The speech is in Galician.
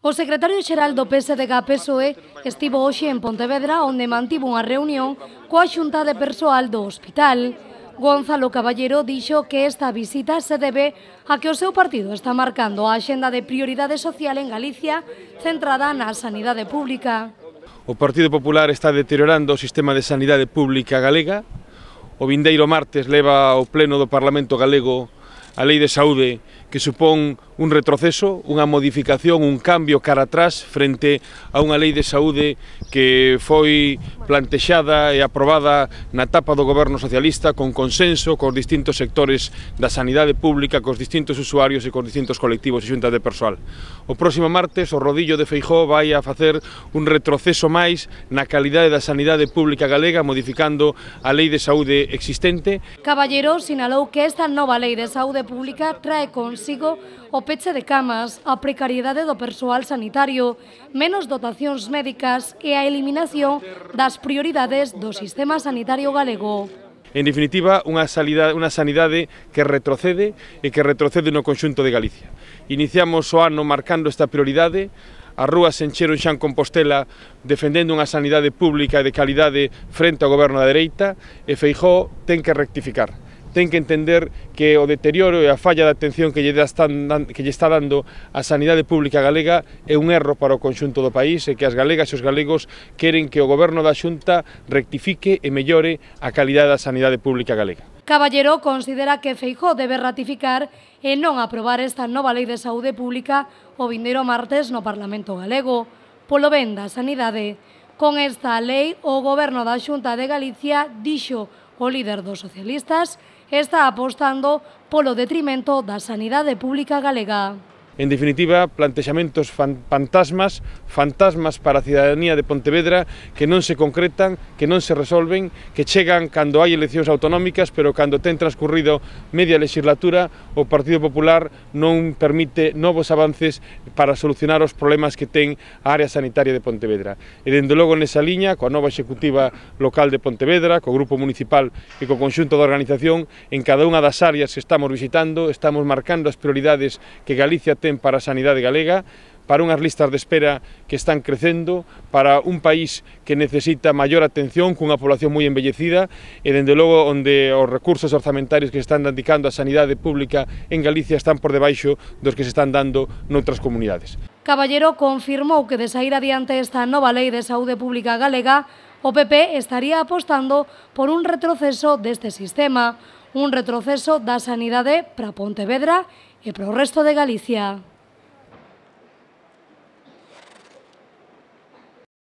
O secretario xeral do PSDG-PSOE estivo hoxe en Pontevedra, onde mantivo unha reunión coa Xunta de Persoal do Hospital. Gonzalo Caballero dixo que esta visita se debe a que o seu partido está marcando a axenda de prioridade social en Galicia centrada na sanidade pública. O Partido Popular está deteriorando o sistema de sanidade pública galega. O vindeiro martes leva ao pleno do Parlamento galego a Lei de Saúde, que supón un retroceso, unha modificación, un cambio cara atrás frente a unha Lei de Saúde que foi plantexada e aprobada na etapa do goberno socialista con consenso cos distintos sectores da sanidade pública, cos distintos usuarios e cos distintos colectivos e xuntas de persoal. O próximo martes o rodillo de Feijóo vai a facer un retroceso máis na calidade da sanidade pública galega, modificando a Lei de Saúde existente. Caballero sinalou que esta nova Lei de Saúde pública trae consigo o peche de camas, a precariedade do persoal sanitario, menos dotacións médicas e a eliminación das prioridades do sistema sanitario galego. En definitiva, unha sanidade que retrocede e que retrocede no conxunto de Galicia. Iniciamos o ano marcando esta prioridade. As rúas se encheron xa en Compostela defendendo unha sanidade pública de calidade frente ao goberno da dereita, e Feijóo ten que rectificar. Ten que entender que o deterioro e a falla de atención que lle está dando a sanidade pública galega é un erro para o conxunto do país, e que as galegas e os galegos queren que o goberno da Xunta rectifique e mellore a calidade da sanidade pública galega. Caballero considera que Feijóo debe ratificar e non aprobar esta nova Lei de Saúde Pública o vindeiro martes no Parlamento galego, polo ben da sanidade. Con esta lei, o goberno da Xunta de Galicia, dixo o líder dos socialistas, está apostando polo detrimento da sanidade pública galega. En definitiva, plantexamentos fantasmas para a cidadanía de Pontevedra que non se concretan, que non se resolven, que chegan cando hai eleccións autonómicas, pero cando ten transcurrido media legislatura, o Partido Popular non permite novos avances para solucionar os problemas que ten a área sanitaria de Pontevedra. E dende logo nesa liña, coa nova executiva local de Pontevedra, co grupo municipal e co conxunto da organización, en cada unha das áreas que estamos visitando, estamos marcando as prioridades que Galicia ten para a sanidade galega, para unhas listas de espera que están crecendo, para un país que necesita maior atención, cunha población moi envellecida, e dende logo onde os recursos orzamentarios que se están dedicando á sanidade pública en Galicia están por debaixo dos que se están dando noutras comunidades. Caballero confirmou que de saír adiante esta nova Lei de Saúde Pública galega, o PP estaría apostando por un retroceso deste sistema, un retroceso da sanidade para Pontevedra e para o resto de Galicia.